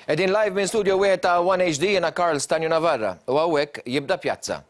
Qegħdin live minn studio wieħed ta' One HD jiena Karl Stanju Navarra u hawnhekk jibda Pjazza.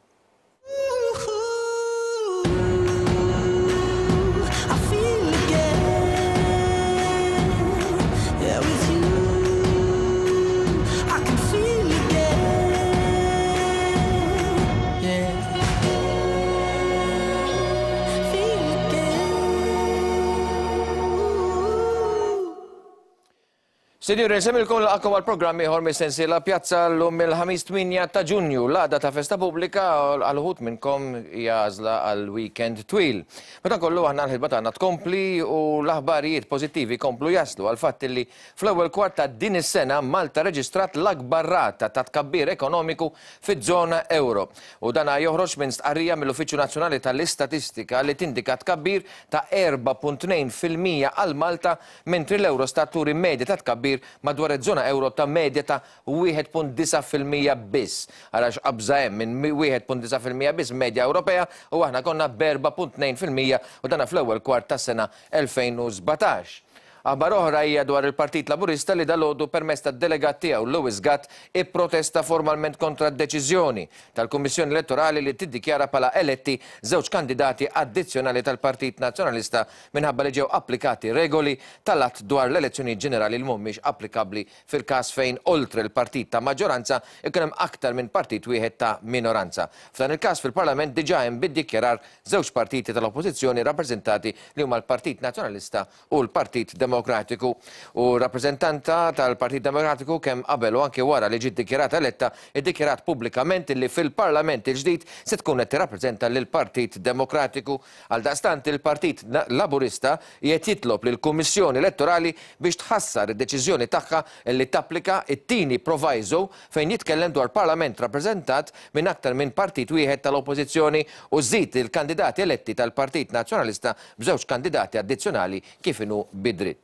Sinjuri, nsemmilkom laqakom għal programm ieħor mis-sensiela Pjazza llum il-ħamis 8 ta' Ġunju, l-għada ta' festa pubblika għal uħud minnkom hija għażla għal weekend twil. Madankollu aħna l-ħidma tagħna tkompli u l-aħbarijiet pożittivi jkomplu jaslu għal fatt li fl-ewwel kwart ta' din is-sena Malta reġistrat l-akbar rata ta' tkabbir ekonomiku fiż-żona ewro. U dan joħroġ minn stqarrija mill-Uffiċċju Nazzjonali tal-Istatistika li tindika tkabbir ta' 4.2% għal Malta mentri l-Eurostat turi medja ta' tkabbir madwar iż-żona ewro ta' medja ta' 1.9% biss. Ara x'qabża hemm minn 1.9% biss medja Ewropea u aħna konna b'4.2% u dana fl-ewwel kwart tas-sena 2017. Aħbar oħra hija dwar il-Partit Laburista li dalgħodu permezz tad-delegat tiegħu Louis Gatt ipprotesta formalment kontra d-deċiżjoni tal-Kummissjoni Elettorali li tiddikjara bħala eletti żewġ kandidati addizzjonali tal-Partit Nazzjonalista minħabba li ġew applikati regoli tal-Att dwar l-Elezzjonijiet Ġenerali li mhumiex applikabbli fil-każ fejn oltre l-partit ta' maġġoranza jkun hemm aktar minn partit wieħed ta' minoranza. F'dan il-każ fil-Parlament diġà hemm bid-dikjarar żewġ partiti tal-Oppożizzjoni rappreżentati li huma l-Partit Nazzjonalista u l-Partit Demokratiku. U r-rappreżentanta tal-Partit Demokratiku kemm qabel u anki wara li ġiet dikjarata eletta iddikjarat pubblikament li fil-Parlament il-ġdid se tkun qed tirrappreżenta lill-Partit Demokratiku. Għaldaqstant il-Partit Laburista qiegħed jitlob lill-Kummissjoni Elettorali biex tħassar id-deċiżjoni tagħha li tapplika t-tieni proviso fejn jitkellem dwar Parlament rappreżentat minn aktar minn partit wieħed tal-Oppożizzjoni u żżid il-kandidati eletti tal-Partit Nazzjonalista b'żewġ kandidati addizzjonali kif inhu bi dritt.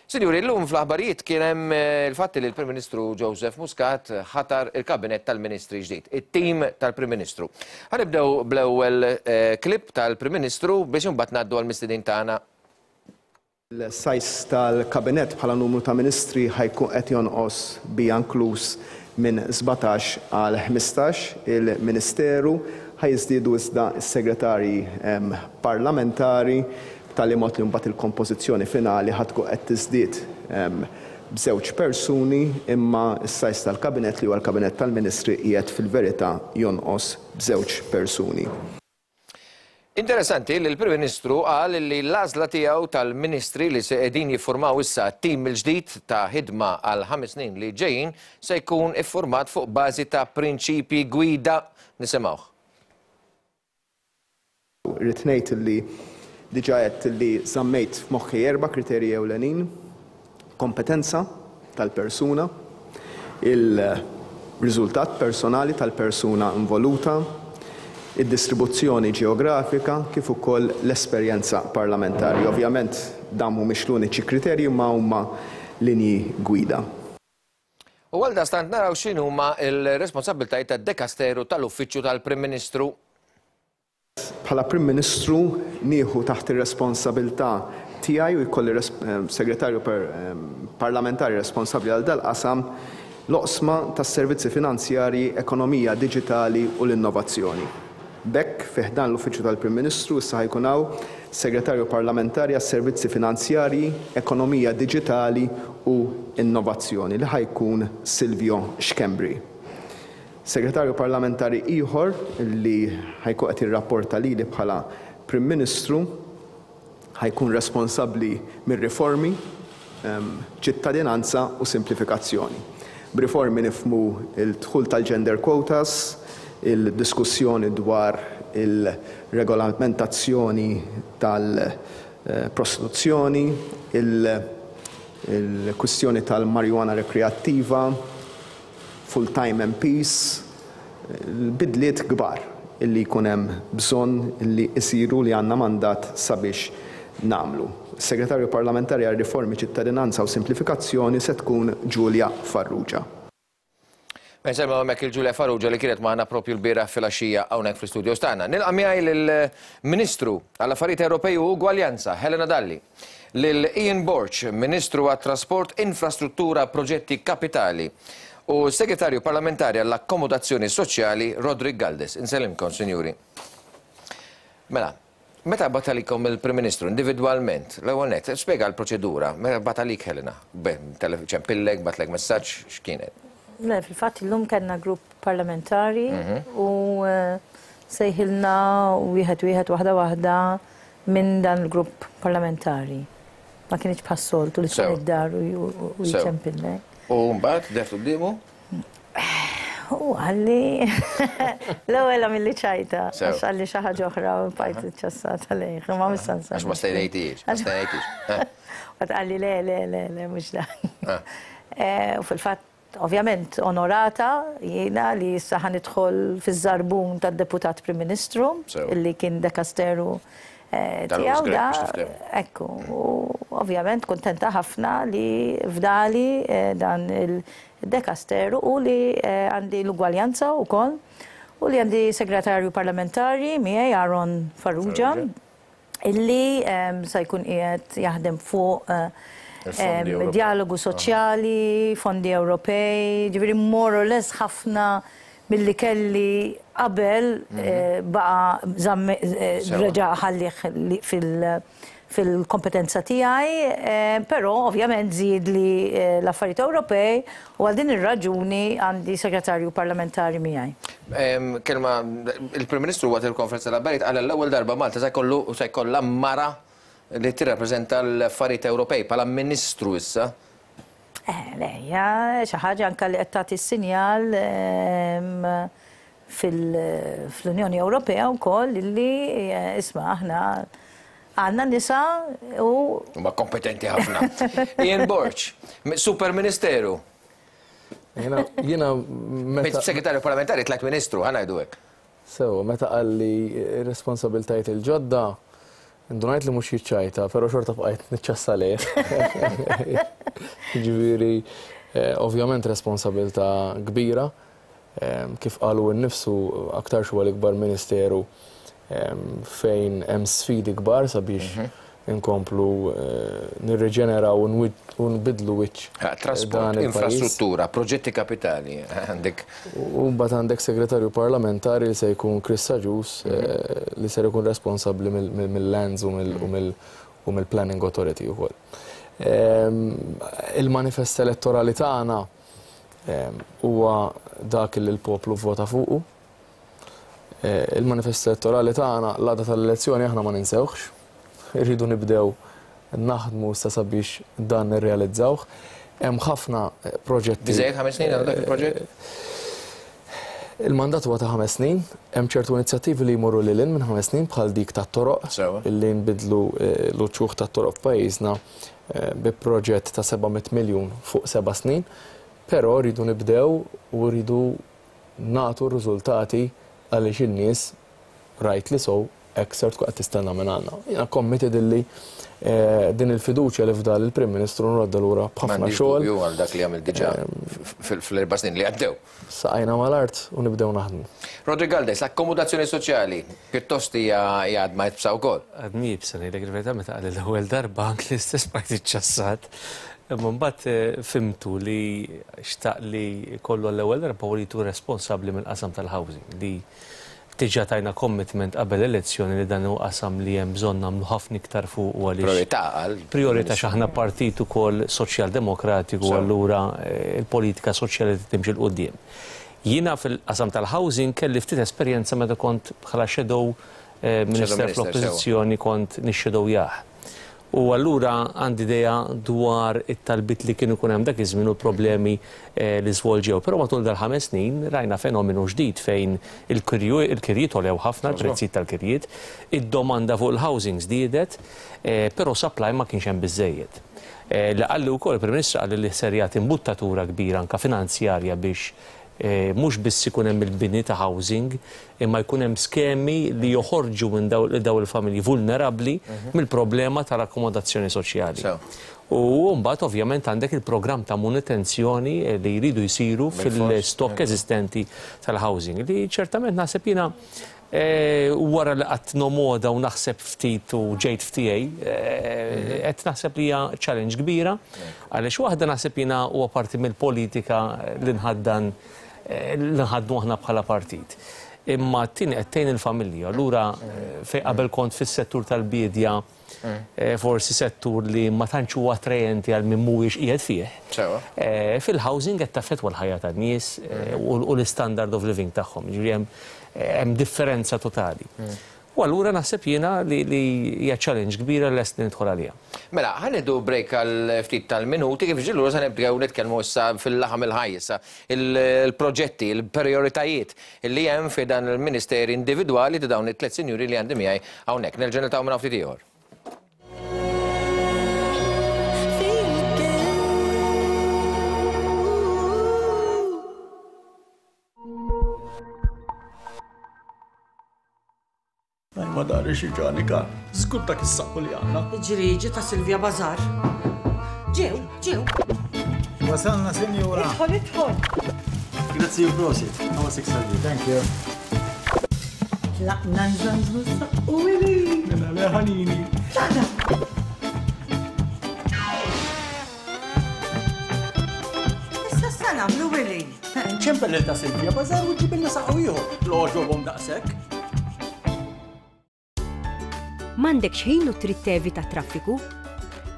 Sinjuri, illum fl-aħbarijiet kien hemm il-fatt li l-Prim Ministru Joseph Muscat ħatar il-Kabinett tal-Ministri ġdid, it-tim tal-Prim Ministru. Ħa nibdew bl-ewwel clip tal-Prim Ministru biex imbagħad ngħaddu għall-mistedin tagħna. Il-size tal-Kabinett bħala numru ta' Ministri ħa jkun qed jonqos bija inkluż minn 17 għal 15 il-Ministeru. Ħa jiżdiedu iżda s-Segretarji Parlamentari b'tali mod li mbagħad il-kompożizzjoni finali ħa tkun qed tiżdied b'żewġ persuni, imma s-size tal-Kabinett li huwa l-Kabinett tal-Ministri qiegħed fil-verità jonqos b'żewġ persuni. Interessanti li l-Prim Ministru qal li l-għażla tiegħu tal-Ministri li se qegħdin jiffurmaw issa t-tim il-ġdid ta' ħidma għal ħames snin li ġejjin se jkun iffurmat fuq bażi ta' prinċipji gwida. Nisimgħuh. Irrid ngħid li diġà għedt li żammejt f'moħħi erba' kriterji ewlenin, kompetenza tal-persuna, il-riżultat personali tal-persuna involuta, id-distribuzzjoni ġeografika kif ukoll l-esperjenza parlamentari. Ovvjament dawn mhumiex l-uniċi kriterji imma huma linji gwida. U għaldaqstant naraw x'inhuma l-responsabbiltajiet tad-dekasteru tal-Uffiċċju tal-Prim Ministru. Bħala Prim Ministru nieħu taħt ir-responsabilità tiegħi u jkolli Segretarju Parlamentari responsabbli għal dal-qasam, l-oqsma tas-servizzi finanzjarji, ekonomija diġitali u l-innovazzjoni. B'hekk, fi ħdan l-Uffiċċju tal-Prim Ministru issa ħa jkun hawn Segretarju Parlamentari għas-Servizzi Finanzjarji, Ekonomija Diġitali u Innovazzjoni li ħa jkun Silvio Schembri. Segretarju Parlamentari ieħor li ħa jkun qed jirrapporta lili bħala Prim Ministru ħa jkun responsabbli mir-riformi, ċittadinanza u simplifikazzjoni. B'riformi nifhmu l-dħul tal-gender quotas, il-diskussjoni dwar il-regolamentazzjoni tal-prostituzzjoni, il-kwistjoni tal-marijuana rekreattiva, full-time MPs, bidliet kbar illi jkun hemm bżonn li jsiru li għandna mandat sabiex nagħmlu. Is-Segretarju Parlamentari għar-Riformi, Ċittadinanza u Simplifikazzjoni se tkun Julia Farrugia. Insellmu hemmhekk il Julia Farrugia li kienet magħna propju l-bieraħ filgħaxija hawnhekk fl-istudios tagħna. Nilqa' miegħi lill-Ministru għall-Affarijiet Ewropej u Ugwaljanza, Helena Dalli. lil Ian Borg, Ministru għat-Trasport, Infrastruttura, Proġetti Kapitali u Segretarju Parlamentari għall-Akkomodazzjoni Soċjali Roderick Galdes. Insellimkom, sinjuri. Mela, meta bagħat għalikom il-Prim Ministru individwalment, l-ewwel nett, spjega l-proċedura, meta bagħat għalik Helena, ċempillek, bagħatlek messaġġ, x'kienet? Le, fil-fatt illum kellna grupp parlamentari u sejħilna wieħed wieħed waħda waħda minn dan il-grupp parlamentari. Ma kinitx bħas-soltu li tkun id-dar u jċempillek. U mbagħad dehrt quddiemu? U qalli l-ewwel għamilli ċajta, għax qalli xi ħaġa oħra u bqajt iċċassata lejh, imma mhux se nsemmi. Għax ma stejnejtix, ma stejnejtix. Mbagħad qalli le, le, le, le, mhux dak. U fil-fatt Ovvjament onorata jiena li issa ħa nidħol fiż-żarbun tad-Deputat Prim Ministru li kien dekasteru tiegħu da. Ekku, u ovvjament kuntenta ħafna li fdali dan il-dekasteru u li għandi l-ugwaljanza wkoll u li għandi Segretarju Parlamentari miegħi Aaron Farrugia. illi se jkun qiegħed jaħdem fuq djalogu soċjali, fondi Ewropej, ġifieri more or less ħafna milli kelli qabel baqa' reġa' ħallih fil-kompetenza tiegħi, però ovvjament żiedli l-affarijiet Ewropej u għal din ir-raġuni għandi segretarju parlamentari miegħi. Kelma, il-Prim Ministru waqt il-konferenza tal-aħbarijiet qal għall-ewwel darba Malta se jkollu se jkollha mara li tirrappreżenta l-affarijiet Ewropej bħala Ministru issa. Le, hija xi ħaġa anke li qed tagħti s-sinjal fl-Unjoni Ewropea wkoll illi isma' aħna għandna nisa u. Huma kompetenti ħafna. Ian Borg, Super Ministeru. Jiena, jiena meta. Segretarju parlamentari tlajt ministru, ħa ngħidu hekk. Sewa, meta qalli r-responsabiltajiet il-ġodda, indunajt li mhux jiċċajta, però xorta bqajt niċċassa lejh. Jiġifieri, ovvjament responsabilità kbira. Kif qal hu nnifsu, aktarx huwa l-ikbar ministeru fejn hemm sfidi kbar sabiex inkomplu nirriġeneraw u nbiddlu wiċċ dan Trasport, infrastruttura, proġetti kapitali, għandek. U mbagħad għandek segretarju parlamentari li se jkun Chris Agius li ser ikun responsabbli mill-lands u mill-Planning Authority wkoll. Il-manifest elettorali tagħna huwa dak li l-poplu vvota fuqu. Il-manifest elettorali tagħna l-għada tal-elezzjoni aħna ma ninsewhx. Irridu nibdew naħdmu issa sabiex dan nirrealizzawh. Hemm ħafna proġetti. Biżżejjed ħames snin għal dak il-proġett? Il-mandat huwa ta' ħames snin. Hemm ċertu inizjattivi li jmorru lil hinn minn ħames snin bħal dik tat-toroq li nbiddlu l-uċuħ tat-toroq f'pajjiżna bi proġett ta' 700 miljun fuq seba' snin, però rridu nibdew u rridu nagħtu r-riżultati għaliex in-nies rightly so hekk ser tkun qed tistenna mingħandna. Jiena committed illi din il-fiduċja li fdal il-Prim Ministru nroddha lura b'ħafna xogħol. M'għandix dubju għal dak li għamilt diġà fl-erba' snin li għaddew. Saqajna mal-art u nibdew naħdmu. Roderick Galdes, l-akkomodazzjoni soċjali pjuttost hija għadma iebsa wkoll. Għadni iebsa ngħidlek il-verità meta qalli l-ewwel darba anke l-istess bqajt iċċassat. Imma mbagħad fhimtu li xtaq li jkollu għall-ewwel darba wlied hu responsabbli mill-qasam tal-housing li Diġà tajna commitment qabel l-elezzjoni li dan hu qasam li hemm bżonn nagħmlu ħafna iktar fuqu għaliex. Prijorità għal. Prijorità għax aħna partit ukoll soċjal-demokratiku allura l-politika soċjali trid timxi 'l quddiem. Jiena fil-qasam tal-housing kelli ftit esperjenza meta kont bħala shadow minister fl-Oppożizzjoni kont nixshadowjah. U allura għandi idea dwar it-talbiet li kien ikun hemm dak iż-żmien u l-problemi li żvolġew. Però matul dal-ħames snin rajna fenomenu ġdid fejn il-kirjiet għolew ħafna, il-prezzijiet tal-kirjiet, id-domanda fuq il-housing żdiedet, però supply ma kienx hemm biżżejjed. Li qalli wkoll il-Prim Ministru qalli li ser jagħti imbuttatura kbira anke finanzjarja biex mhux biss ikun hemm il-bini ta' housing, imma jkun hemm skemi li joħorġu minn dawn il-familji vulnerabbli mill-problema tal-akkomodazzjoni soċjali. U mbagħad ovvjament għandek il-programm ta' manutenzjoni li jridu jsiru fil-stokk eżistenti tal-housing li ċertament naħseb jiena Wara li qgħadt nomoda u naħseb ftit u ġejt f'tiegħi, qed naħseb li hija challenge kbira għaliex waħda naħseb jiena huwa parti mill-politika li nħaddan li nħaddnu aħna bħala partit. Imma t-tieni qed tgħin il-familji. Allura fejn qabel kont fis-settur tal-biedja forsi settur li ma tantx huwa attrajenti għal min mhuwiex qiegħed fih. Fil-housing qed taffettwa l-ħajja tan-nies u l-istandard of living tagħhom. Jiġifieri hemm differenza totali. U allura naħseb jiena li hija challenge kbira li lest li nidħol għaliha. Mela, ħa nieħdu break għal ftit tal-minuti, kif ġie lura se nibdew nitkellmu issa fil-laħam il-ħaj issa, il-proġetti, il-prijoritajiet li hemm fi dan il-ministeri individwali ta' dawn it-tlett sinjuri li għandi miegħi hawnhekk. Nerġa' niltaqgħu minn hawn ftit ieħor. Ma dari xi ġani kan. Żgur dak is-saqqu li għandna. Ġriġi ta' Silvia Bazar. Ġew, ġew. Wasalna, sinjura. Idħol, idħol. Grazzi u prosit. Għawa sik salvi. Thank you. Tlaqna nżanżnu s-saqqu wili. Mela le ħanini. Tlaqna. Issa sa nagħmlu wili. Ċempel lil ta' Silvia Bazar u ġibilna saqqu ieħor. L-għoġobhom daqshekk. M'għandekx ħin u trid tevita t-traffiku?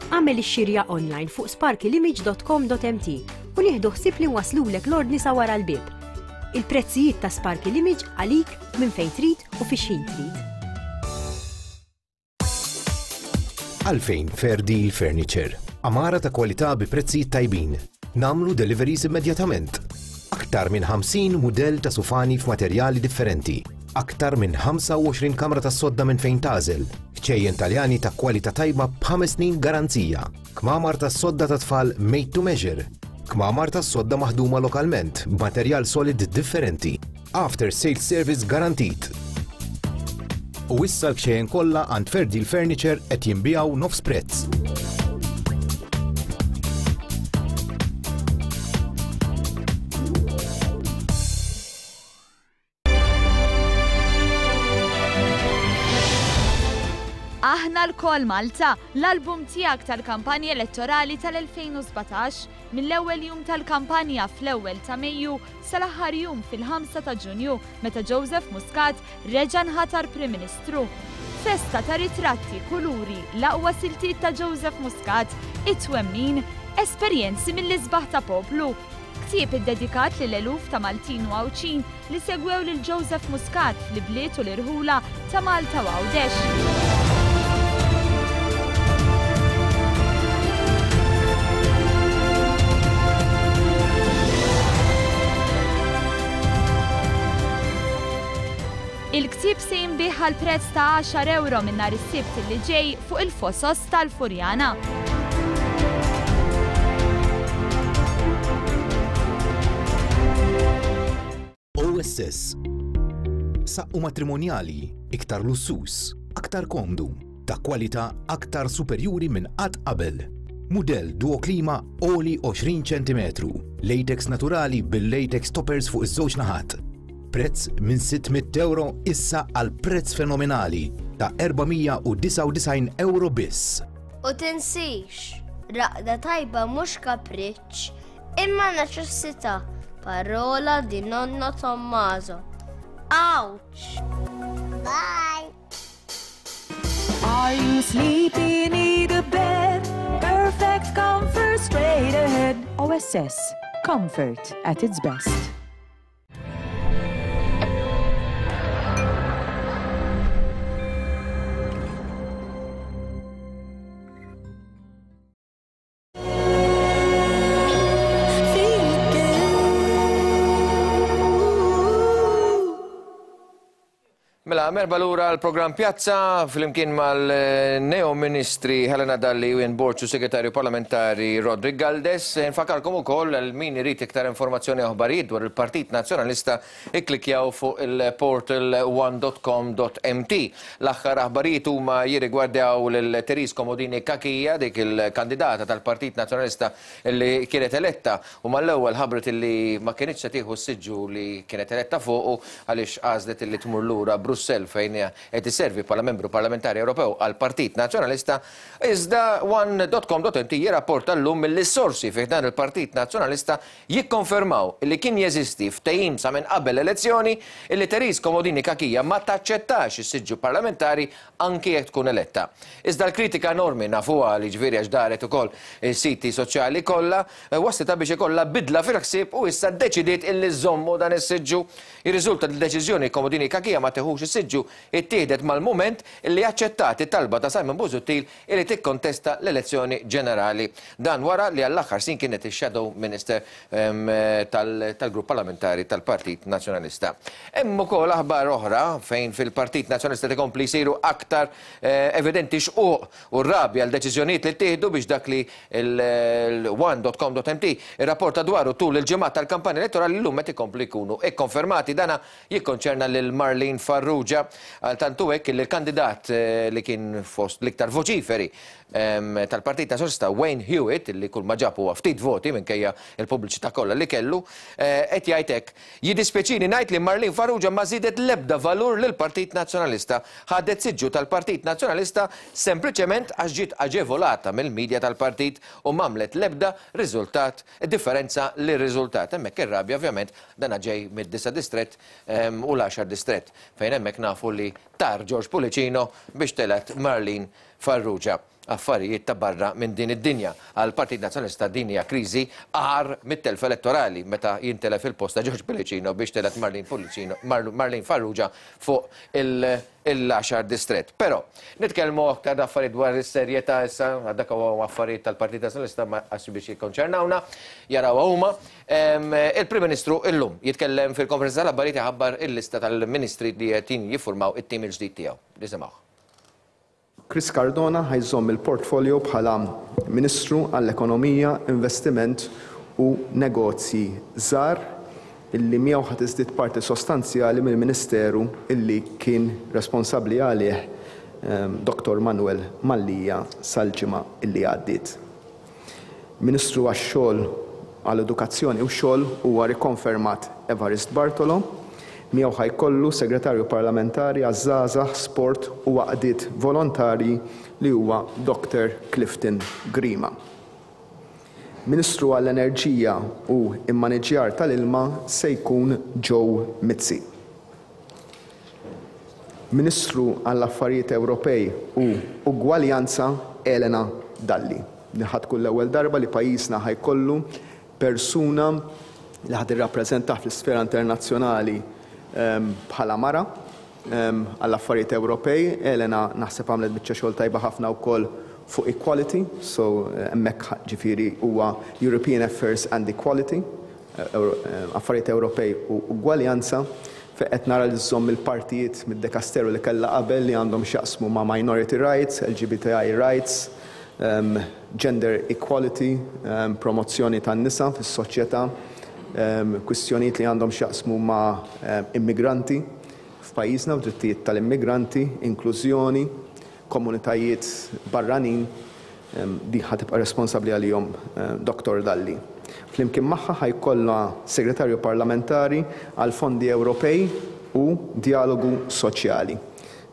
Agħmel ix-xirja online fuq sparkylimage.com.mt u nieħdu ħsieb li nwasslulek l-ordni sa wara l-bieb. Il-prezzijiet ta' Sparky Limage għalik minn fejn trid u fi x'ħin trid. Għalfejn Fair Deal Furniture? Għamara ta' kwalità bi prezzijiet tajbin. Nagħmlu deliveries immedjatament. Aktar minn 50 mudell ta' sufani f'materjali differenti. Aktar minn 25 kamra tas-sodda minn fejn tagħżel. Kċejjen Taljani ta' kwalità tajba b'ħames snin garanzija. Kmamar tas-sodda ta' tfal made to measure. Kmamar tas-sodda maħduma lokalment b'materjal solid differenti. After sales service garantit. U issa l-kċejjen kollha għand Fair Deal Furniture qed jinbiegħu nofs prezz. Aħna lkoll Malta, l-album tiegħek tal-kampanja elettorali tal-2017, mill-ewwel jum tal-kampanja fl-ewwel ta' Mejju sal-aħħar jum fil-5 ta' Ġunju meta Joseph Muscat reġa' nħatar Prim Ministru. Festa ta' ritratti, kuluri, l-aqwa siltiet ta' Joseph Muscat, it-twemmin, esperjenzi mill-isbaħ ta' poplu. Ktieb iddedikat lil eluf ta' Maltin u Għawdxin li segwew lil Joseph Muscat fl-ibliet u l-irħula ta' Malta u Għawdex. Il-ktieb se jinbiegħ għal prezz ta' għaxar ewro minn nhar is-Sibt li ġej fuq il-Fosos tal-Furjana. OSS. Saqqu matrimonjali, iktar lussuż, aktar komdu, ta' kwalità aktar superjuri minn qatt qabel. Mudell Duo Klima għoli 20 ċentimetru, latex naturali bil-latex toppers fuq iż-żewġ naħat. Prezz minn 600 ewro issa għal prezz fenomenali ta' 499 ewro biss. U tinsix, raqda tajba mhux kapriċċ, imma neċessità. Parola di nonno Tommaso. Ouch! Bye! Are you sleepy? Need a bed? Perfect comfort straight ahead. OSS. Comfort at its best. Mela, Mela, merba lura l-programm Pjazza flimkien mal-neo ministri Helena Dalli u Ian Borg u segretarju parlamentari Roderick Galdes. Nfakarkom ukoll għal min irid iktar informazzjoni aħbarijiet dwar il-Partit Nazzjonalista ikklikjaw fuq il-portal one.com.mt. L-aħħar aħbarijiet huma jirrigwardaw lil Therese Comodini Cachia, dik il-kandidata tal-Partit Nazzjonalista li kienet eletta u mal-ewwel ħabbret illi ma kinitx se tieħu s-siġġu li kienet eletta fuqu għaliex għażlet illi tmur lura Brussell fejn qed isservi bħala membru parlamentari Ewropew għall-Partit Nazzjonalista. Iżda one dot com dot mt jirrapporta llum milli s-sorsi fi ħdan il-Partit Nazzjonalista jikkonfermaw illi kien jeżisti ftehim sa minn qabel l-elezzjoni illi Therese Comodini Cachia ma taċċettax is-siġġu parlamentari anki jekk tkun eletta. Iżda l-kritika enormi, nafuha li ġifieri għax daret ukoll is-siti soċjali kollha, wasslitha biex ikollha bidla fil-ħsieb u issa ddeċidiet illi żżommu dan is-siġġu. Jirriżulta li d-deċiżjoni Comodini Cachia ma tiħux is-siġġu ittieħdet mal-mument illi aċċettat it-talba ta' Simon Busuttil illi tikkontesta l-elezzjoni ġenerali. Dan wara li għall-aħħar snin kienet ix-Shadow Minister tal-Grupp Parlamentari tal-Partit Nazzjonalista. Hemm ukoll aħbar oħra fejn fil-Partit Nazzjonalista qed ikompli jsiru aktar evidenti xquq u rabja għal deċiżjonijiet li ttieħdu biex dak li l-one.com.mt irrapporta dwaru tul il-ġimgħat tal-kampanja elettorali llum qed ikomplu jkunu kkonfermati. Dana jikkonċerna lil Marlene Farrugia. Għal tant hu hekk li l-kandidat li kien fost l-iktar voċiferi tal-Partit Nazzjonalista Wayne Hewitt, li kull ma ġab huwa ftit voti minkejja l-pubbliċità kollha li kellu, qed jgħid hekk, Jiddispjaċini ngħid li Marlene Farrugia ma żiedet l-ebda valur lill-Partit Nazzjonalista. Ħadet siġġu tal-Partit Nazzjonalista sempliċement għax ġiet aġevolata mill-media tal-partit u m'għamlet l-ebda riżultat differenza lir-riżultat. Hemmhekk ir-rabja ovvjament dana ġej mid-disa' distrett u l-għaxar distrett fejn hemmhekk nafu li tar George Pullicino biex telgħet Marlene Farrugia. Affarijiet ta' barra minn din id-dinja. Għall-Partit Nazzjonalista din hija kriżi agħar mit-telfa elettorali meta jintelef il-post ta' George Pullicino biex telgħet Marlene Pullicino, Marlene Farrugia fuq il-għaxar distrett. Però, nitkellmu aktar affarijiet dwar is-serjetà issa, dak huwa affarijiet tal-Partit Nazzjonalista ma għax biex jikkonċernawna, jarawha huma. Il-Prim Ministru illum jitkellem fil-konferenza tal-aħbarijiet iħabbar il-lista tal-ministri li qed jiffurmaw it-tim il-ġdid tiegħu. Nisimgħuh. Chris Cardona ħa jżomm il-portfolio bħala Ministru għall-Ekonomija, Investiment u Negozji Żgħar illi miegħu ħa tiżdied parti sostanzjali mill-Ministeru illi kien responsabbli għalih Dottor Manuel Mallia sal-ġimgħa illi għaddiet. Ministru għax-Xogħol, għall-Edukazzjoni u x-Xogħol huwa rikonfermat Evarist Bartolo. Miegħu ħa jkollu Segretarju Parlamentari għaż-Żgħażagħ, Sport u Għaqdiet Volontarji li huwa Doctor Clifton Grima. Ministru għall-Enerġija u Immaniġjar tal-Ilma se jkun Joe Mizzi. Ministru għall-Affarijiet Ewropej u Ugwaljanza Elena Dalli. Din ħa tkun l-ewwel darba li pajjiżna ħa jkollu persuna li ħa tirrappreżentah fl-isfera internazzjonali bħala mara għall-affarijiet Ewropej. Elena naħseb għamlet biċċa xogħol tajba ħafna wkoll fuq equality, so hemmhekk ġifieri huwa European Affairs and Equality. Affarijiet Ewropej u Ugwaljanza, fejn qed nara li żżomm il-partijiet mid-dekasteru li kellha qabel li għandhom x'jaqsmu ma' minority rights, LGBTI rights, gender equality, promozzjoni tan-nisa fis-soċjetà, kwistjonijiet li għandhom x'jaqsmu ma' immigranti f'pajjiżna u drittijiet tal-immigranti, inklużjoni, komunitajiet barranin, din ħa tibqa' responsabbli għalihom Dottor Dalli. Flimkien magħha ħa jkollha Segretarju Parlamentari għall-Fondi Ewropej u Djalogu Soċjali,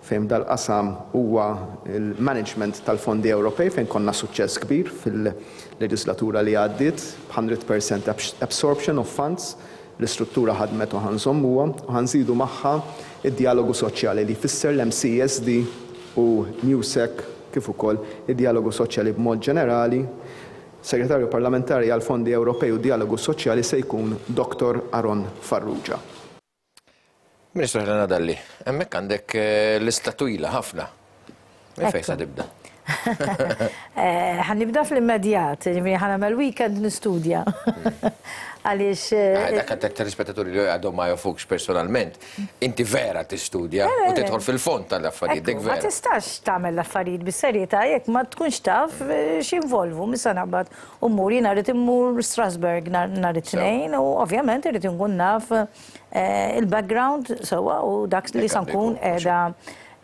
fejn f'dal-qasam huwa l-management tal-fondi Ewropej fejn konna suċċess kbir fil-leġislatura li għaddiet b'100% absorption of funds. L-istruttura ħadmet u ħa nżommuha u ħa nżidu magħha d-djalogu soċjali li jfisser l-MCESD u Newsec kif ukoll id-djalogu soċjali b'mod ġenerali. Segretarju Parlamentari għall-Fondi Ewropej u Djalogu Soċjali se jkun Dottor Aaron Farrugia. Ministru Helena Dalli, hemmhekk għandek lista twila ħafna. Minn fejn sa tibda? Ħa nibda fl-immedjat, jiġifieri ħa nagħmel weekend nistudja. Għaliex. Dak għat-telespettaturi li għadhom ma jafukx personalment, inti vera tistudja u tidħol fil-fond tal-affarijiet, dik vera. Ma tistax tagħmel l-affarijiet bis-serjetà jekk ma tkunx taf x'jinvolvu. Mhux se naqbad u mmur, jiena rrid immur Strasbourg nhar it-Tnejn u ovvjament irrid inkun naf il-background sewwa u dak li sa nkun qiegħda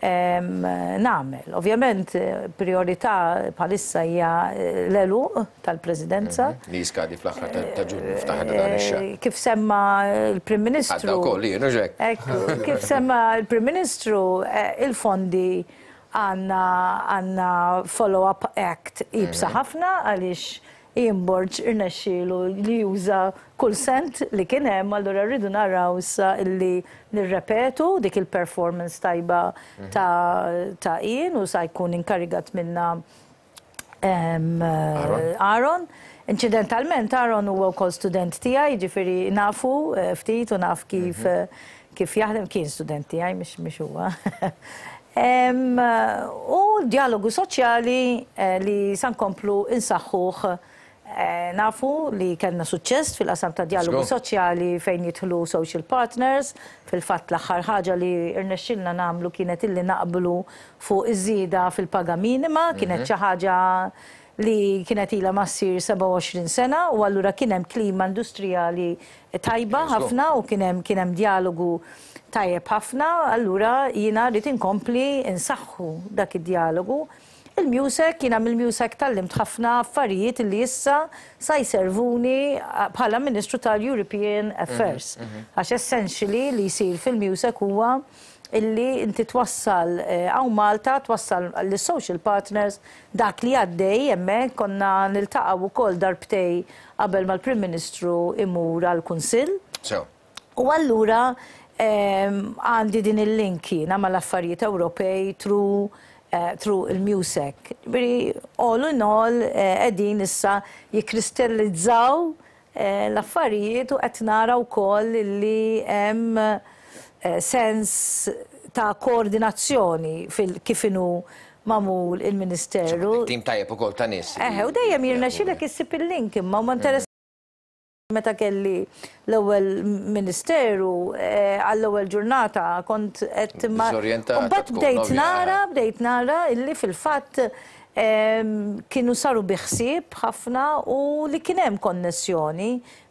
nagħmel. Ovvjament prijorità bħalissa hija l-għeluq tal-Presidenza. Li jiskadi fl-aħħar ta' Ġunju, fl-aħħar ta' dan ix-xahar. Kif semma l-Prim Ministru. Għadda wkoll jien, hux hekk? Ekku, kif semma l-Prim Ministru, il-fondi għandna għandna follow-up act iebsa ħafna għaliex Ian Borg irnexxielu li juża kull sent li kien hemm, allura rridu naraw issa illi nirrepetu dik il-performance tajba ta' Ian u sa jkun inkarigat minnha Aaron. Inċidentalment Aaron huwa wkoll student tiegħi, jiġifieri nafu ftit u naf kif kif jaħdem, kien student tiegħi mhux huwa. U d-djalogu soċjali li sa nkomplu nsaħħuh. Nafu li kellna suċċess fil-qasam tad-djalogu soċjali fejn jidħlu social partners. Fil-fatt l-aħħar ħaġa li rnexxielna nagħmlu kienet illi naqblu fuq iż-żieda fil-paga minima. Kienet xi ħaġa li kienet ilha ma ssir 27 sena u allura kien hemm klima industrijali tajba ħafna u kien hemm kien hemm djalogu tajjeb ħafna, allura jiena rrid inkompli nsaħħu dak id-djalogu. Il-MUSEC, jiena mill-MUSEC tgħallimt ħafna affarijiet li issa sa jservuni bħala Ministru tal-European Affairs. Għax essentially li jsir fil-MUSEC huwa illi inti twassal hawn Malta, twassal lis-social partners dak li għaddej hemmhekk. Konna niltaqgħu wkoll darbtej qabel ma l-Prim Ministru imur għall-Kunsill. Sew. U allura għandi din il-link jiena mal-affarijiet Ewropej through through il-MUSEC. Ġifieri all in all qegħdin issa jikkristallizzaw l-affarijiet u qed nara wkoll li hemm sens ta' koordinazzjoni fil kif inhu magħmul il-Ministeru. Tim tajjeb ukoll ta' nies. Eħe, u dejjem jirnexxilek issib il-link imma huma interessanti meta kelli l-ewwel ministeru għall-ewwel ġurnata kont qed ma. Diżorjentata. Mbagħad bdejt nara, bdejt nara illi fil-fatt kienu saru bi ħsieb ħafna u li kien hemm konnessjoni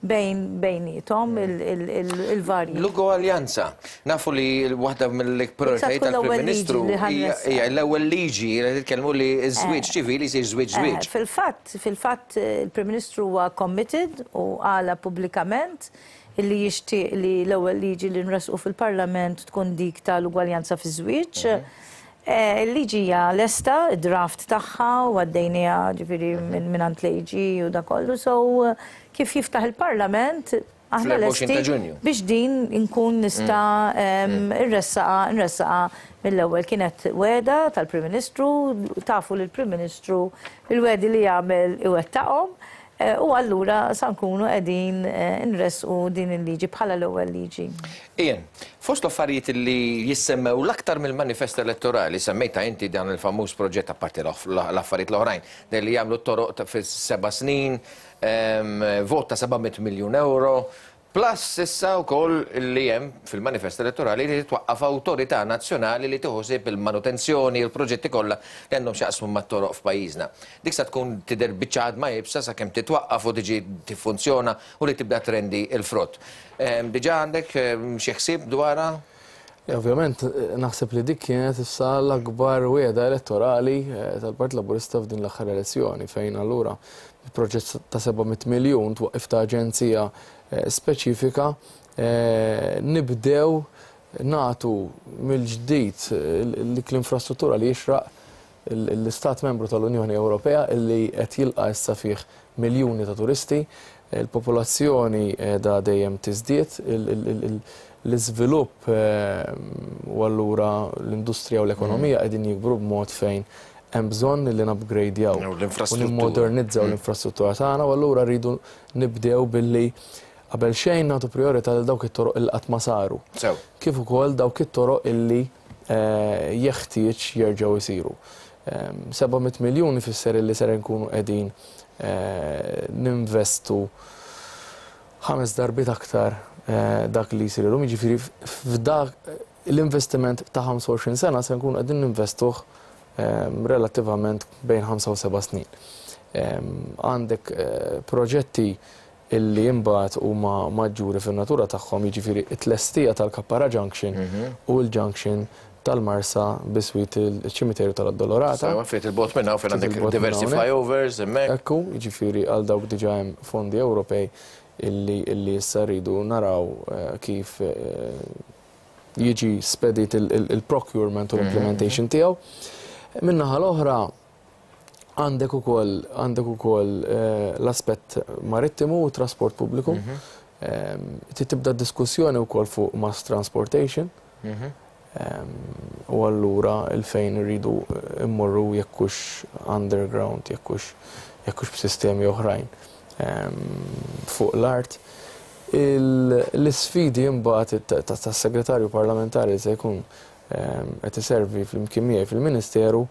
bejn bejniethom il-varji. L-ugwaljanza. Nafu li waħda mill-prioritajiet tal-Prim Ministru hija l-ewwel liġi li titkellmu li ż-żwieġ ċivili jsir żwieġ żwieġ. Fil-fatt, fil-fatt il-Prim Ministru huwa committed u qalha pubblikament illi jixtieq li l-ewwel liġi li nressqu fil-Parlament tkun dik tal-ugwaljanza fiż-żwieġ. Il-liġi hija lesta, id-draft tagħha u għaddejniha ġifieri mingħand l-AG u dak kollu, so kif jiftaħ il-Parlament aħna lesti biex din inkun nista' nressaqha nressaqha mill-ewwel. Kienet wegħda tal-Prim Ministru, tafu li l-Prim Ministru l-wegħdi li jagħmel iwettaqhom. U allura sa nkunu qegħdin inressqu din il-liġi bħala l-ewwel liġi. Ian, fost l-affarijiet li jissemmew l-aktar mill-manifest elettorali, semmejtha inti dan il-famuż proġett apparti l-affarijiet l-oħrajn, li jagħmlu t-toroq fis-seba' snin, vot ta' 700 miljun ewro, Plus issa wkoll li hemm fil-manifest elettorali li titwaqqaf awtorità nazzjonali li tieħu ħsieb il-manutenzjoni u l-proġetti kollha li għandhom x'jaqsmu mat-toroq f'pajjiżna. Dik sa tkun tidher biċċa għadma iebsa sakemm titwaqqaf u tiġi tiffunzjona u li tibda trendi l-frott. Diġà għandek xi ħsieb dwarha? Le, ovvjament, naħseb li dik kienet issa l-akbar wiegħda elettorali tal-Partit Laburista f'din l-aħħar elezzjoni fejn allura bi proġett ta' 700 miljun twaqqif ta' aġenzija speċifika nibdew nagħtu mill-ġdid dik l-infrastruttura li jixraq l-Istat Membru tal-Unjoni Ewropea li qed jilqa' issa fih miljuni ta' turisti, il-popolazzjoni qiegħda dejjem tiżdied, l-iżvilupp u allura l-industrija u l-ekonomija qegħdin jikbru b'mod fejn hemm bżonn li nupgradjaw u nimmodernizzaw l-infrastruttura tagħna u allura rridu nibdew billi qabel xejn nagħtu prijorità lil dawk it-toroq li qatt ma saru. Kif ukoll dawk it-toroq illi jeħtieġ jerġgħu jsiru. 700 miljun ifisser illi ser inkunu qegħdin ninvestu ħames darbiet aktar dak li jsir illum, jiġifieri f'dak l-investiment ta' 25 sena se nkunu qegħdin ninvestuh relattivament bejn ħamsa u seba' snin. Għandek proġetti illi imbagħad huma maġġuri fin-natura tagħhom, jiġifieri t-tlestija tal-Kappara Junction u l-junction tal-Marsa biswit iċ-ċimiterju tal-Addolorata. Sewwa, ftit 'il bogħod minn hawn fejn għandek diversi flyovers hemmhekk. Ekku, jiġifieri għal dawk diġà hemm fondi Ewropej illi illi issa rridu naraw kif jiġi spedit il-procurement u l-implementation tiegħu. Min-naħa l-oħra, Għandek ukoll għandek ukoll l-aspett marittimu u t-trasport pubbliku. Trid tibda diskussjoni wkoll fuq mass transportation. U allura 'il fejn irridu mmorru jekk hux underground, jekk hux jekk hux b'sistemi oħrajn fuq l-art. L-isfidi imbagħad tas-Segretarju Parlamentari li se jkun qed iservi flimkien miegħi fil-Ministeru,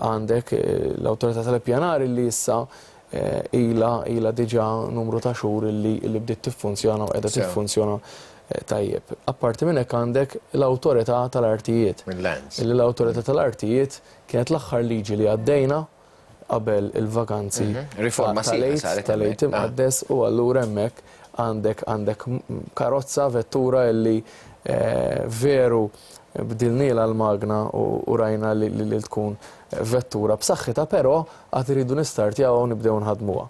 għandek l-Awtorità tal-Ippjanar li issa ilha ilha diġà numru ta' xhur li bdiet tiffunzjona u qiegħda tiffunzjona tajjeb. Apparti minn hekk għandek l-Awtorità tal-Artijiet. Illi l-Awtorità tal-Artijiet kienet l-aħħar liġi li għaddejna qabel il-vakanzi tal-Għid, tal-Għid Imqaddes u allura hemmhekk għandek għandek karozza, vettura illi veru bdilnielha l-magna u rajna li tkun vettura b'saħħitha però għad irridu nistartjawha u nibdew nħaddmuha.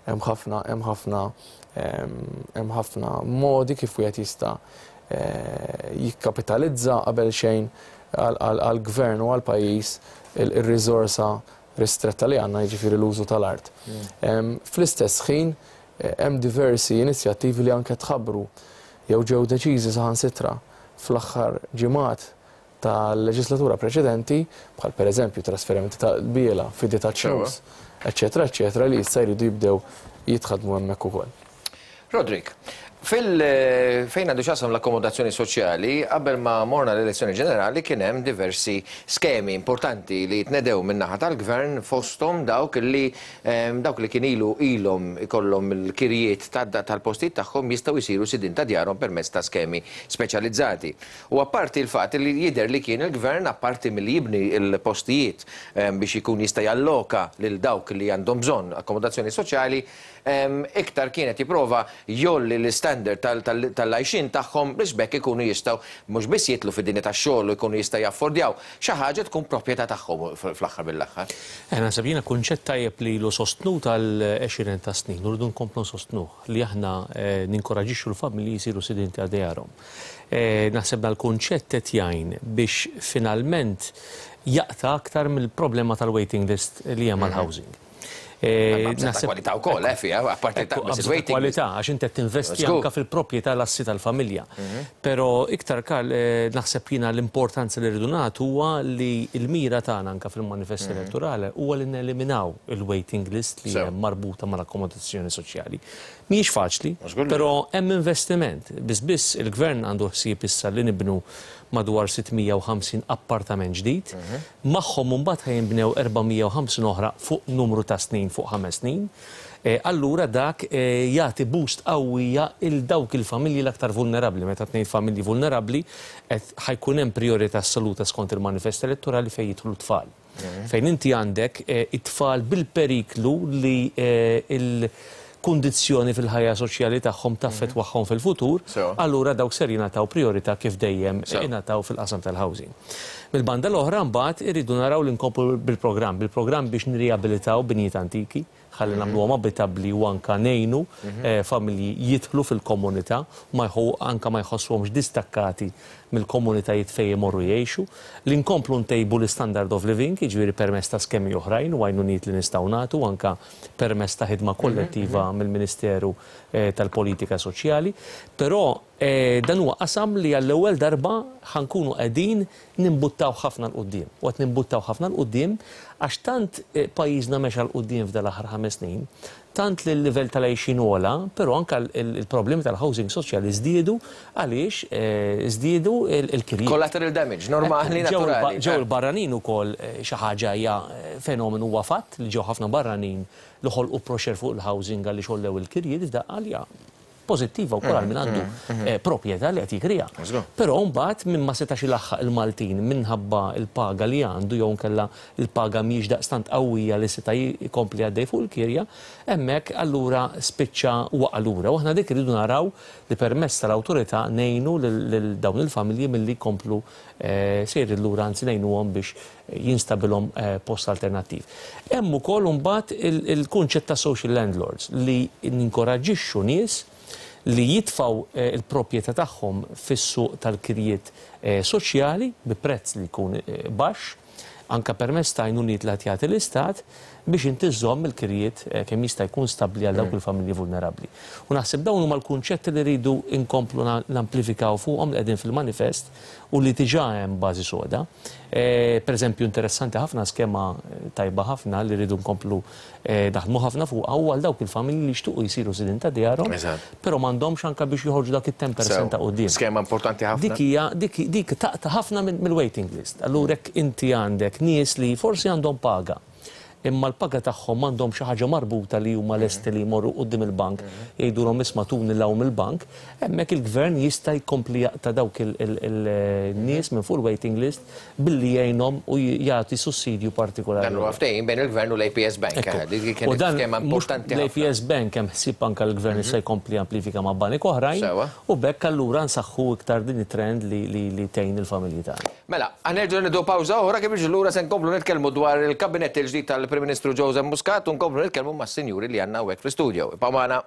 Hemm ħafna hemm ħafna hemm ħafna modi kif wieħed jista' jikkapitalizza qabel xejn għall-gvern u għall-pajjiż ir-riżorsa ristretta li għandna, jiġifieri l-użu tal-art. Fl-istess ħin hemm diversi inizjattivi li anke tħabbru jew ġew deċiżi saħansitra fl-aħħar ġimgħat tal-leġislatura preċedenti, bħal pereżempju trasferimenti ta' qbiela, fidi ta' ċnus, eċċetera eċċetera li issa jridu jibdew jitħaddmu hemmhekk ukoll. Roderick, fil fejn għandu x'jaqsam l-akkomodazzjoni soċjali, qabel ma morna l-elezzjoni ġenerali kien hemm diversi skemi importanti li tnedew min-naħa tal-Gvern fosthom dawk li dawk li kien ilu ilhom ikollhom il-kirjiet tal-postijiet tagħhom jistgħu jsiru sidien ta' djarhom permezz ta' skemi speċjalizzati. U apparti l-fatt li jidher li kien il-Gvern apparti milli jibni l-postijiet biex ikun jista' jalloka lil dawk li għandhom bżonn akkomodazzjoni soċjali, iktar kien qed jipprova jgħolli l-istandard tal-għajxien tagħhom biex b'hekk ikunu jistgħu mhux biss jidħlu fid-dinja tax-xogħol u jkunu jistgħu jaffordjaw xi ħaġa tkun proprjetà tagħhom fl-aħħar mill-aħħar. Naħseb jiena kunċett tajjeb li ilu sostnut għal għexieren ta' snin u rridu nkomplu nsostnuh li aħna ninkoraġġixxu l-familji jsiru sidien ta' djarhom. Naħseb dal-kunċett qed jgħin biex finalment jaqta' aktar mill-problema tal-waiting list li hemm għall-housing. Naħseb kwalità wkoll, eh, fiha, apparti ta' waiting. Kwalità, għax inti qed tinvesti anke fil-proprjetà l-assi tal-familja. Però iktar Karl, naħseb jiena l-importanza li rridu nagħtu huwa li l-mira tagħna anke fil-manifest elettorali huwa li neliminaw il-waiting list li hemm marbuta mal-akkomodazzjoni soċjali. Mhijiex faċli, però hemm investiment. Biss biss il-Gvern għandu ħsieb issa li nibnu madwar 650 appartament ġdid. Magħhom imbagħad ħa jinbnew 450 oħra fuq numru ta' snin, fuq ħames snin. Allura dak jagħti boost qawwija 'l dawk il-familji l-aktar vulnerabbli. Meta qed ngħid familji vulnerabbli, qed ħa jkun hemm prijorità assoluta skont il-manifest elettorali fejn jidħlu t-tfal. Fejn inti għandek it-tfal bil-periklu li l-kundizzjoni fil-ħajja soċjali tagħhom taffettwahom fil-futur, allura dawk ser jingħataw prijorità kif dejjem ingħataw fil-qasam tal-housing. Mill-banda l-oħra mbagħad irridu naraw li nkomplu bil-programm, bil-programm biex nirriabilitaw binjiet antiki, ħalli nagħmluhom abitabbli u anke ngħinu familji jidħlu fil-komunità u ma anke ma jħossuhomx distakkati mill-komunitajiet fejn imorru jgħixu, li nkomplu ntejbu l-istandard of living, jiġifieri permezz ta' skemi oħrajn u għajnuniet li nistgħu nagħtu anke permezz ta' ħidma kollettiva mill-Ministeru tal-Politika Soċjali. Però Dan huwa qasam li għall-ewwel darba ħa nkunu qegħdin nimbuttaw ħafna 'l quddiem. U qed nimbuttaw ħafna 'l quddiem għax tant pajjiżna mexa 'l quddiem f'dan l-aħħar ħames snin, tant li l-livell tal-għixien għola, però anke l-problemi tal-housing soċjali żdiedu għaliex żdiedu l-kirjiet. Collateral damage, normali, naturali. Ġew il-barranin ukoll xi ħaġa hija fenomenu huwa fatt li ġew ħafna barranin li ħolqu pressure fuq il-housing għaliex għollew il-kirjiet f'daqqa li hija pożittiva wkoll għal min għandu proprjetà li qed jikriha. Però mbagħad min ma setax ilaħħaq il-Maltin minħabba l-paga li għandu jew inkella l-paga mhijiex daqstant qawwija li seta' jkompli għaddej fuq il-kirja, hemmhekk allura spiċċa waqa' lura. U aħna dik irridu naraw li permezz tal-awtorità ngħinu lil dawn il-familji milli jkomplu sejrin lura anzi ngħinuhom biex jinstabilhom post alternattiv. Hemm ukoll imbagħad il-kunċett ta' social landlords li ninkoraġġixxu nies li jitfgħu l-proprjetà tagħhom fis-suq tal-kirjiet soċjali bi prezz li jkun baxx, anke permezz ta' għajnuniet li qed jagħti l-Istat, biex inti żżomm il-kirjiet kemm jista' jkun stabbli għal dawk il-familji vulnerabbli. U naħseb dawn huma l-kunċetti li rridu nkomplu namplifikaw fuqhom li qegħdin fil-manifest u li diġà hemm bażi soda. Per eżempju, interessanti ħafna skema tajba ħafna li rridu nkomplu naħdmu ħafna fuqha huwa għal dawk il-familji li jixtiequ jsiru sidien ta' djarhom, però m'għandhomx anke biex joħorġu dak it-10% ta' quddiem. Skema importanti ħafna. Dik hija dik dik taqta' ħafna mill-waiting list. Allura jekk inti għandek nies li forsi għandhom paga, imma l-paga tagħhom m'għandhom xi ħaġa marbuta li huma lesti li jmorru quddiem il-bank jgħidulhom isma' tuni 'l hawn mill-bank, hemmhekk il-Gvern jista' jkompli jaqta' dawk il-nies minn fuq il-waiting list billi jgħinhom u jagħti sussidju partikolari. Dan huwa ftehim bejn il-Gvern u l-APS Bank. Dik kienet skema importanti ħafna. L-APS Bank hemm ħsieb anke l-Gvern issa jkompli jamplifika ma' banek oħrajn u b'hekk allura nsaħħu iktar din it-trend li tgħin il-familji tagħna. Mela, ħa nerġgħu nieħdu pawża oħra kif niġu lura se nkomplu nitkellmu dwar il-kabinett il-ġdid tal-Prim Ministru Joseph Muscat u nkomplu nitkellmu mas-sinjuri li għandna hawnhekk fl-istudio. Ibqgħu magħna.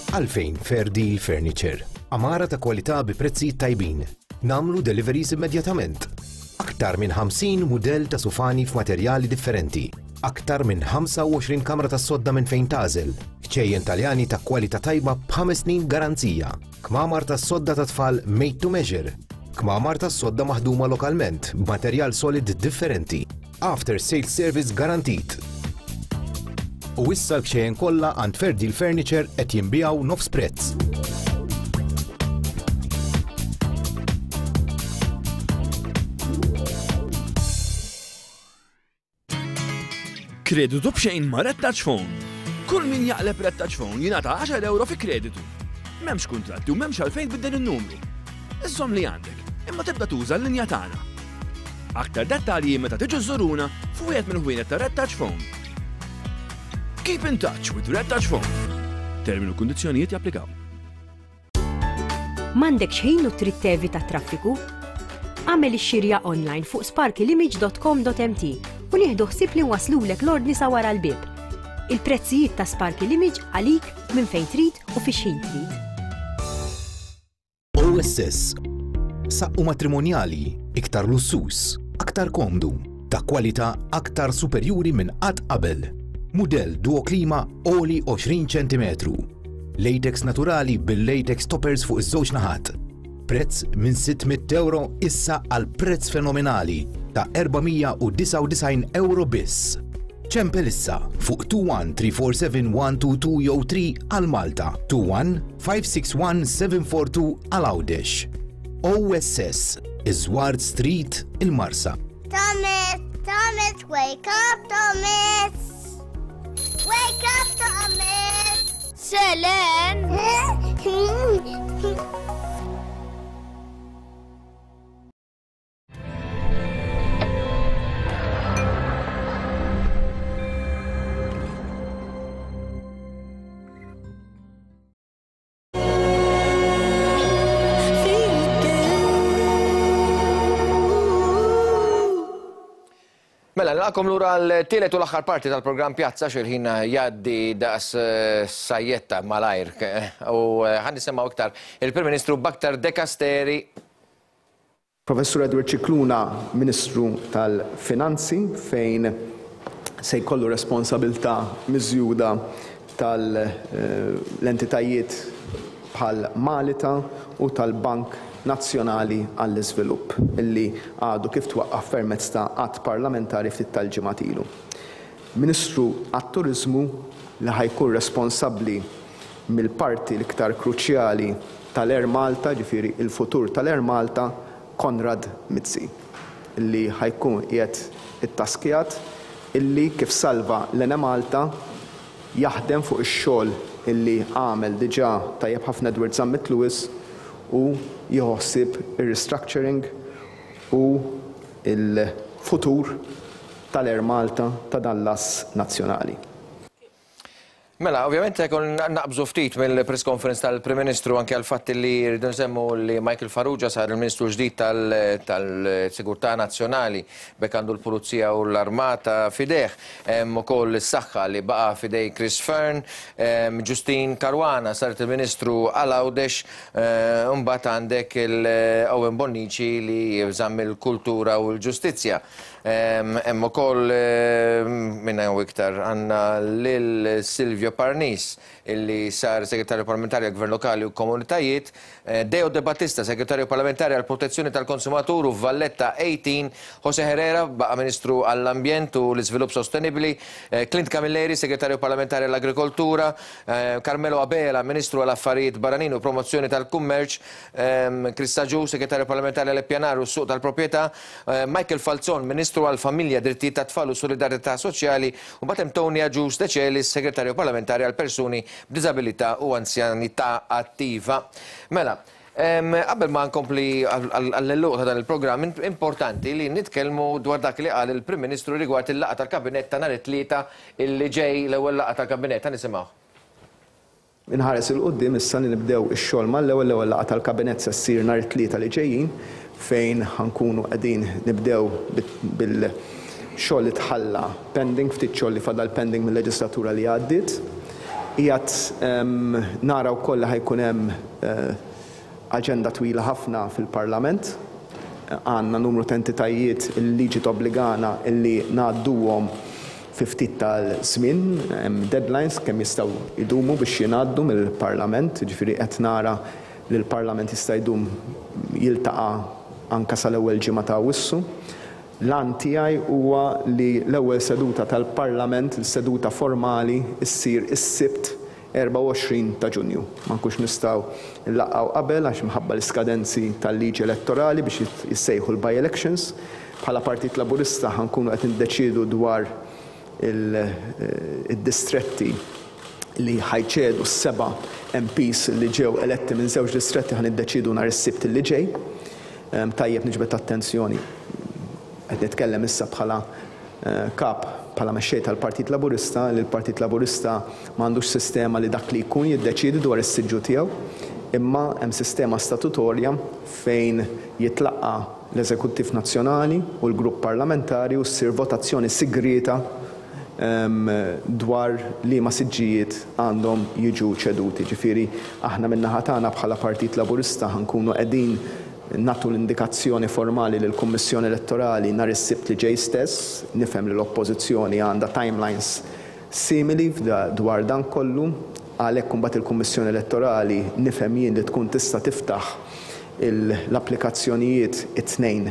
Għalfejn Fair Deal Furniture? Għamara ta' kwalità bi prezzijiet tajbin. Nagħmlu deliveries immedjatament. Aktar minn 50 mudell ta' sufani f'materjali differenti. Aktar minn 25 kamra tas-sodda minn fejn tagħżel. Kċejjen Taljani ta' kwalità tajba b'ħames snin garanzija. Kmamar tas-sodda ta' tfal made to measure. Kmamar tas-sodda maħduma lokalment b'materjal solid differenti. After sales service garantit. U issa l-kxejjen kollha għand Fair Deal Furniture qed jinbiegħu nofs prezz. Kreditu b'xejn ma' Red Touch Phone. Kull min jaqleb Red Touch Phone jingħata 10 euro fi kreditu. M'hemmx kuntratti u m'hemmx għalfejn tbiddel in-numru. Iżżomm li għandek, imma tibda tuża l-linja tagħna. Aktar dettalji meta tiġu żżuruna f'wieħed mill-ħwienet ta' Red Touch Phone. Keep in touch with Red Touch Phone. Termini u kundizzjonijiet japplikaw. M'għandekx ħin u trid tevita t-traffiku? Agħmel ix-xirja online fuq sparkylimage.com.mt u nieħdu ħsieb li nwasslulek l-ordni sa wara l-bieb. Il-prezzijiet ta' Sparky Image għalik minn fejn trid u fi x'ħin trid. OSS, Saqqu matrimonjali iktar lussuż, aktar komdu, ta' kwalità aktar superjuri minn qatt qabel. Mudell Duo Klima għoli 20 ċentimetru. Latex naturali bil-latex toppers fuq iż-żewġ naħat. Prezz minn 600 euro issa għal prezz fenomenali ta' 499 euro biss. Ċempel issa fuq 21 347 122 jew 3 għal Malta, 21 561 742 għal Għawdex. OSS, Iż-Żward Street, il-Marsa. Thomas, Thomas, wake up, Thomas! Wake up, Thomas! Selen! Mela, nilqakom lura l-tielet u l-aħħar parti tal-programm Pjazza xil-ħin jgħaddi daqs eh, sajjetta malajr. U eh, ħan nisimgħu iktar il-Prim Ministru b'aktar dekasteri. Professur Edward Scicluna, Ministru tal-Finanzi, fejn se jkollu responsabilità miżjuda tal-entitajiet bħal Malita u tal-Bank Nazzjonali għall-Iżvilupp, li għadu kif twaqqaf permezz ta' att parlamentari ftit tal-ġimgħat ilu. Ministru għat-Turiżmu li ħa jkun responsabbli mill-parti l-iktar kruċjali tal-Air Malta, ġifieri l-futur tal-Air Malta, Konrad Mizzi, li ħa jkun qiegħed ittaskjat illi kif salva l-Enemalta jaħdem fuq ix-xogħol illi għamel diġà tajjeb ħafna Edward Zammit Lewis u jieħu ħsieb ir-restructuring u l-futur tal-Air Malta ta' dan l-ass nazzjonali. Mela, ovvjament jkun naqbżu ftit mill-press conference tal-Prim Ministru anke għal fatt li rridu nsemmu li Michael Farrugia sar il-Ministru ġdid tal-Sigurtà Nazzjonali b'hekk għandu l-Pulizija u l-Armata f'idejh. Hemm ukoll is-Saħħa li baqa' f'idej Chris Fearne, Justyne Caruana saret il-Ministru għal Għawdex, imbagħad għandek il-Owen Bonnici li żamm il-Kultura u l-Ġustizzja. Hemm ukoll minn hawn iktar għandna lil Silvio Parnis illi sar Segretarju Parlamentari għall-Gvern Lokali u Komunitajiet, Deo De Battista, Segretarju Parlamentari għall-Protezzjoni tal-Konsumatur u f'Valletta 18, Jose Herrera baqa' Ministru għall-Ambjent u l-Iżvilupp Sostenibbli, Clint Camilleri, Segretarju Parlamentari għall-Agrikoltura, Carmelo Abela, Ministru għall-Affarijiet Barranin u Promozzjoni tal-Kummerċ, Chris Agius, Segretarju Parlamentari għall-Ippjanar u s-Suq tal-Proprjetà, Michael Falzon, Ministru għall-Familja, Drittijiet tat-Tfal u Solidarjetà Soċjali, u mbagħad hemm Tony Agius Decelis, Segretarju Parlamentari għall-Persuni b'Diżabilità u Anzjanità Attiva. Mela, qabel ma nkompli għall-għeluq ta' dan il-programm, importanti li nitkellmu dwar dak li qal il-Prim Ministru rigward il-laqgħa tal-Kabinett ta' nhar it-Tlieta li ġej, l-ewwel laqgħa tal-Kabinett. Ħa nisimgħuh. Inħares 'il quddiem issa li nibdew ix-xogħol mal-ewwel, l-ewwel laqgħa tal-Kabinett se ssir nhar it-Tlieta li ġejjin fejn ħa nkunu qegħdin nibdew bil-xogħol li tħalla pending, ftit xogħol li fadal pending mil-leġislatura li għaddiet. Qiegħed nara wkoll li ħa jkun hemm aġenda twila ħafna fil-Parlament. Għandna numru ta' entitajiet li l-liġi tobbligana li ngħadduhom fi ftit tal-żmien. Hemm deadlines kemm jistgħu jdumu biex jingħaddu mill-Parlament, jiġifieri qed nara li l-Parlament jista' jdum jiltaqa' anke sal-ewwel ġimgħa ta' Awwissu. L-għan tiegħi huwa li l-ewwel seduta tal-Parlament, is-seduta formali, issir is-Sibt 24 ta' Ġunju. Ma nkunx nistgħu nlaqqgħu qabel għax minħabba l-iskadenzi tal-liġi elettorali biex jissejħu l-by-elections. Bħala Partit Laburista ħa nkunu qed niddeċiedu dwar id-distretti li ħa jċedu s-seba' MPs li ġew eletti minn żewġ distretti ħa niddeċiedu nhar is-Sibt li ġej. Tajjeb niġbed attenzjoni, qed nitkellem issa bħala Kap, bħala mexxej tal-Partit Laburista, li l-Partit Laburista ma għandux sistema li dak li jkun jiddeċiedi dwar is-siġġu tiegħu, imma hemm sistema statutorja fejn jitlaqqa' l-Eżekuttiv Nazzjonali u l-Grupp Parlamentari u ssir votazzjoni sigrieta dwar liema siġġijiet għandhom jiġu ċeduti. Ġifieri aħna min-naħa tagħna bħala Partit Laburista ħa nkunu qegħdin Nagħtu l-indikazzjoni formali lill-Kummissjoni Elettorali nhar is-Sibt li ġej stess. Nifhem li l-Oppożizzjoni għandha timelines simili dwar dan kollu. Għalhekk imbagħad il-Kummissjoni Elettorali nifhem jien li tkun tista' tiftaħ l-applikazzjonijiet it-Tnejn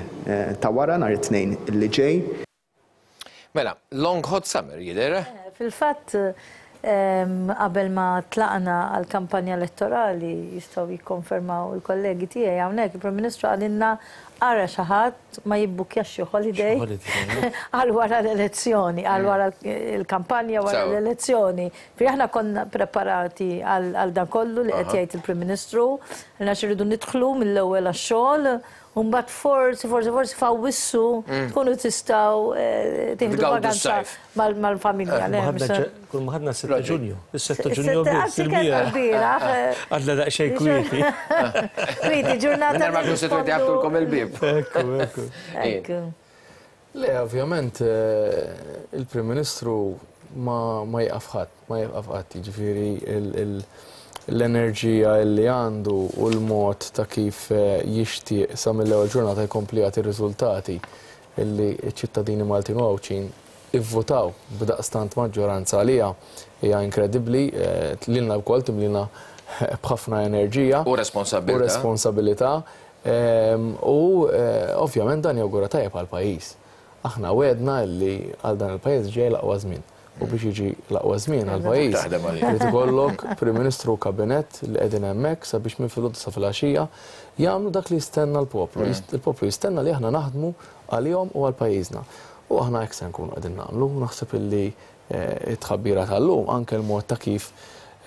ta' wara, nhar it-Tnejn li ġej. Mela, long hot summer jidher, eh? Fil-fatt, qabel ma tlaqna għall-kampanja elettorali, jistgħu jikkonfermaw il-kollegi tiegħi hawnhekk, il-Prim Ministru qalilna ara xi ħadd ma jibbukkjax xi holiday għal wara l-elezzjoni, għal wara l-kampanja wara l-elezzjoni. Ġifieri aħna konna preparati għal dan kollu li qed jgħid il-Prim Ministru, għax irridu nidħlu mill-ewwel għax-xogħol U mbagħad forsi, forsi, forsi f'Awwissu tkunu tistgħu tieħdu vaganza mal-familja. Kull ma ħadna 6 Ġunju. Is-6 Ġunju biss. Il-bieraħ. Għadna daqsxejn kwieti. Kwieti, ġurnata. Ma kienu setgħu jgħabtulkom il-bieb. Ekku, ekku. Ekku. Le, ovvjament, il-Prim Ministru ma jieqaf ħadd, ma jieqaf qatt, jiġifieri L-enerġija li għandu u l-mod ta' kif jixtieq sa mill-ewwel ġurnata jkompli jagħti riżultati illi ċ-ċittadini Maltin u Għawdxin ivvutaw b'daqstant maġġoranza għaliha hija inkredibbli. Lilna wkoll timlina b'ħafna enerġija. U responsabbiltà. U responsabilità. U ovvjament dan jawgura tajjeb għall-pajjiż. Aħna wegħdna li għal dan il-pajjiż ġej l-aqwa żmien. U biex jiġi l-aqwa żmien għall-pajjiż, irid ikollok Prim Ministru u Kabinett li qegħdin hemmhekk sabiex minn filgħodu sa filgħaxija jagħmlu dak li jistenna l-poplu. Il-poplu jistenna li aħna naħdmu għalihom u għal pajjiżna. U aħna hekk se nkunu qegħdin nagħmlu. Naħseb illi t-tħabbira tal-lum, anke l-mod ta' kif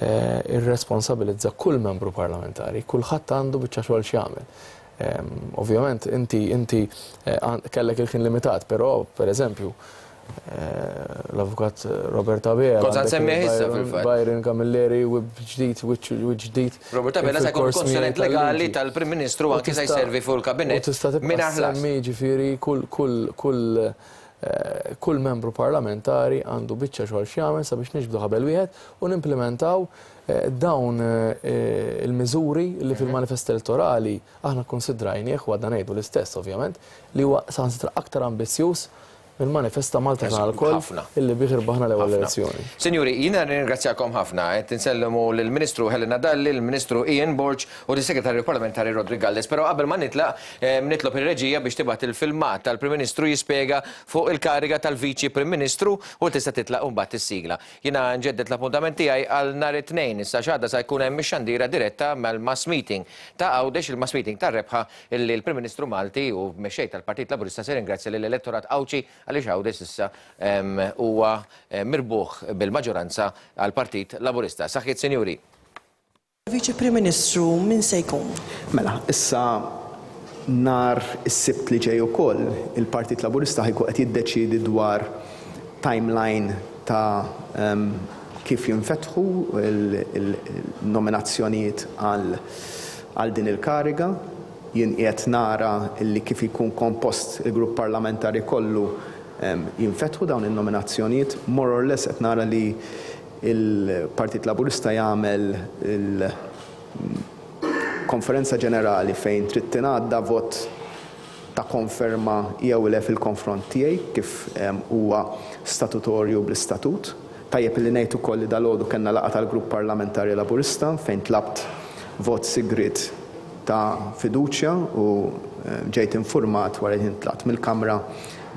irresponsabilizza kull membru parlamentari, kulħadd għandu biċċa xogħol x'jagħmel. Ovvjament inti inti kellek il-ħin limitat, però pereżempju l-avukat Robert Abela. Kont se nsemmih issa fil-fatt. Byron Camilleri, wib ġdid, wiċċ ġdid. Robert Abela se jkun konsulent legali tal-Prim Ministru anki se jservi fuq il-kabinett. U tista' tibqa' ssemmi ġifieri kull kull kull kull membru parlamentari għandu biċċa xogħol x'jagħmel sabiex niġbdu ħabel wieħed u nimplementaw dawn il-miżuri li fil-manifest elettorali aħna kkunsidrajnieh u għadna ngħidu l-istess ovvjament li huwa saħansitra aktar ambizzjuż mill-manifest ta' Malta Tagħna Lkoll illi bih irbaħna l-ewwel elezzjoni. Sinjuri, jiena nirringrazzjakom ħafna. Qed insellmu lill-Ministru Helena Dalli, lill-Ministru Ian Borg u lis-Segretarju Parlamentari Roderick Galdes. Però qabel ma nitlaq, nitlob ir-reġija biex tibgħat il-filmat tal-Prim Ministru jispjega fuq il-kariga tal-Viċi Prim Ministru u tista' titlaq imbagħad is-sigla. Jiena nġedded l-appuntament tiegħi għal nhar it-Tnejn. Issa x'għada sa jkun hemm ix-xandira diretta mal-mass meeting ta' Għawdex, il-mass meeting tar-rebħa illi l-Prim Ministru Malti u Mexxej tal-Partit Laburista se jirringrazzja lill-elettorat Għawdxi għaliex Għawdex s'issa huwa mirbuħ bil-maġġoranza għall-Partit Laburista. Saħħiet Sinjuri. Viċi Prim Ministru min se jkun? Mela, issa nhar is-Sibt li ġej ukoll, il-Partit Laburista ħa jkun qed jiddeċiedi dwar timeline ta' kif jinfetħu l-nominazzjonijiet għal din il-kariga. Jien qiegħed nara li kif jkun kompost il-grupp parlamentari kollu jinfetħu dawn in-nominazzjonijiet. More or less qed nara li Il-Partit Laburista jagħmel il-Konferenza Ġenerali fejn trid tingħadda vot ta' konferma jew le fil-konfront tiegħi kif huwa statutorju bl-istatut. Tajjeb illi ngħid ukoll li dalgħodu kellna laqgħa tal-Grupp Parlamentari Laburista fejn tlabt vot sigriet ta' fiduċja u ġejt infurmat wara li tlaqt mill-Kamra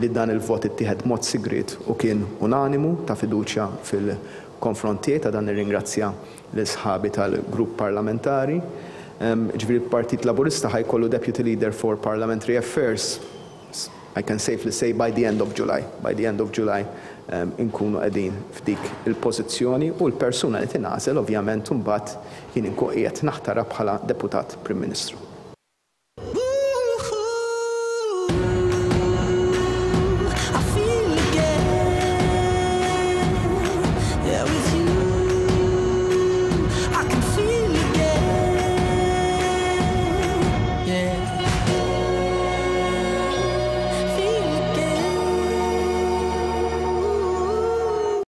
li dan il-vot ittieħed b'mod sigriet u kien unanimu ta' fiduċja fil-konfront tiegħi. Ta' dan nirringrazzja lil sħabi tal-Grupp Parlamentari. Ġifieri l-Partit Laburista ħa jkollu Deputy Leader for Parliamentary Affairs, I can safely say by the end of July. By the end of July inkunu qegħdin f'dik il-pożizzjoni u l-persuna li tingħażel ovvjament imbagħad jien inkun qiegħed naħtarha bħala Deputat Prim Ministru.